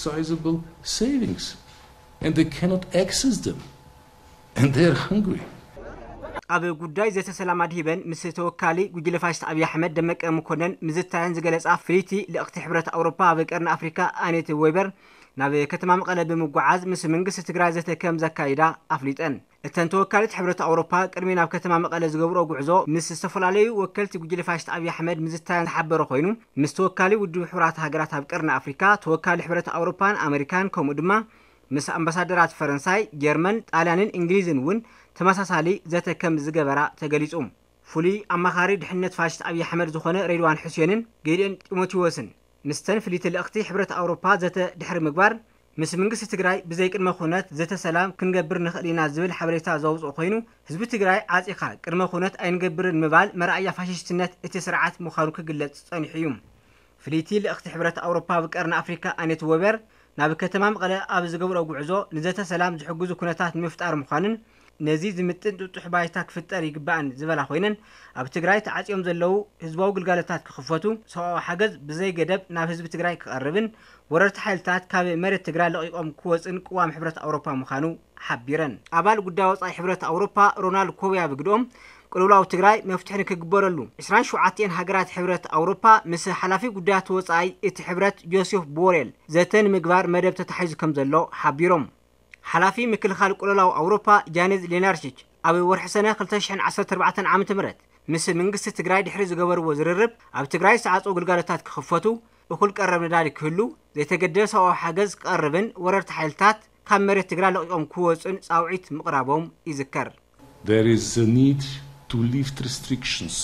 sizable savings and they cannot access them and they're hungry. ኣብ ጉዳይ ዘተ ሰላም ኣድሂበን ምስ ተወካሊ ጉጅለ ፋሽስት ኣብይ ኣሕመድ ደመቀ መኮነን ምዝታየን ዝገለጻ ፍልይቲ ልእኽቲ ሕብረት ኣውሮፓ ኣብ ቀርኒ ኣፍሪካ ኣኔት ዌበር ናብ ከተማ መቐለ ብምጓዓዝ ምስ መንግስቲ ትግራይ ዘተ ከም ዘካይዳ ኣፍሊጠን። እተን ተወካሊት ሕብረት ኣውሮፓ ቅድሚ ናብ ከተማ መቐለ ዝገብሮ ጉዕዞ ምስ ዝተፈላለዩ ወከልቲ ጉጅለ ፋሽስት ኣብይ ኣሕመድ ምዝታየን ዝሓበረ ኮይኑ ምስ ተወካሊ ውድብ ሕቡራት ሃገራት ኣብ ቀርኒ ኣፍሪካ ተወካሊ ሕብረት ኣውሮፓን ኣመሪካን ከምኡ ድማ ምስ ኣምባሳደራት ፈረንሳይ፣ ጀርመን፣ ጣልያንን እንግሊዝን እውን ተመሳሳሊ ዘተ ከም ዝገበራ ተገሊጹ። ፍሉይ ኣማኻሪ ድሕነት ፋሽስት ኣብይ ኣሕመድ ዝኾነ ሬድዋን ሑሴንን ጌድዮን ጢሞቴዎስን ምስተን ፍልይቲ ልእኽቲ ሕብረት ኣውሮፓ ዘተ ድሕሪ ምግባር ምስ መንግስቲ ትግራይ ብዘይ ቅድመ ኩነት ዘተ ሰላም ክንገብር ንኽእል ኢና ዝብል ሓበሬታ ዘውፅኦ ኮይኑ ህዝቢ ትግራይ ዓፂኻ ቅድመ ኩነት ኣይንገብርን ምባል መርኣያ ፋሽስትነት እቲ ስርዓት ምዃኑ ክግለጽ ጸኒሑ እዩ። ፍልይቲ ልእኽቲ ሕብረት ኣውሮፓ ኣብ ቀርኒ ኣፍሪካ ኣኔት ወበር ናብ ከተማ መቐለ ኣብ ዝገብሮ ጉዕዞ ንዘተ ሰላም ዝሕግዙ ኩነታት ንምፍጣር ምዃንን ነዚ ዝምጥን ጥጡሕ ባይታ ክፍጠር ይግባእን ዝበላ ኮይነን ኣብ ትግራይ ተዓፅዮም ዘለዉ ህዝባዊ ግልጋሎታት ክኽፈቱ ሰብኣዊ ሓገዝ ብዘይ ገደብ ናብ ህዝቢ ትግራይ ክቐርብን ወረርቲ ሓይልታት ካብ መሬት ትግራይ ለቒቖም ክወፅን ቅዋም ሕብረት ኣውሮፓ ምዃኑ ሓቢረን። ኣባል ጉዳይ ወፃኢ ሕብረት ኣውሮፓ ሮናልድ ኮቢያ ብግድኦም ቅልውላው ትግራይ መፍትሒ ንክግበረሉ ዕስራን ሸውዓተን ሃገራት ሕብረት ኣውሮፓ ምስ ሓላፊ ጉዳያት ወፃኢ እቲ ሕብረት ጆሴፍ ቦሬል ዘተ ንምግባር መደብ ተታሒዙ ከም ዘሎ ሓቢሮም። ሓላፊ ምክልኻል ቅልውላው ኣውሮፓ ጃኔዝ ሌናርቺች ኣብ ወርሒ ሰነ ክልተ ሽሕን ዓሰርተ ኣርባዕተን ዓመተ ምህረት ምስ መንግስቲ ትግራይ ድሕሪ ዝገበርዎ ዝርርብ ኣብ ትግራይ ዝተዓፀው ግልጋሎታት ክኽፈቱ እኹል ቀረብ ነዳዲ ክህሉ ዘይተገደበ ሰብኣዊ ሓገዝ ክቐርብን ወረርቲ ሓይልታት ካብ መሬት ትግራይ ለቒቖም ክወፁን ፃውዒት ምቕራቦም ይዝከር። There is a need to lift restrictions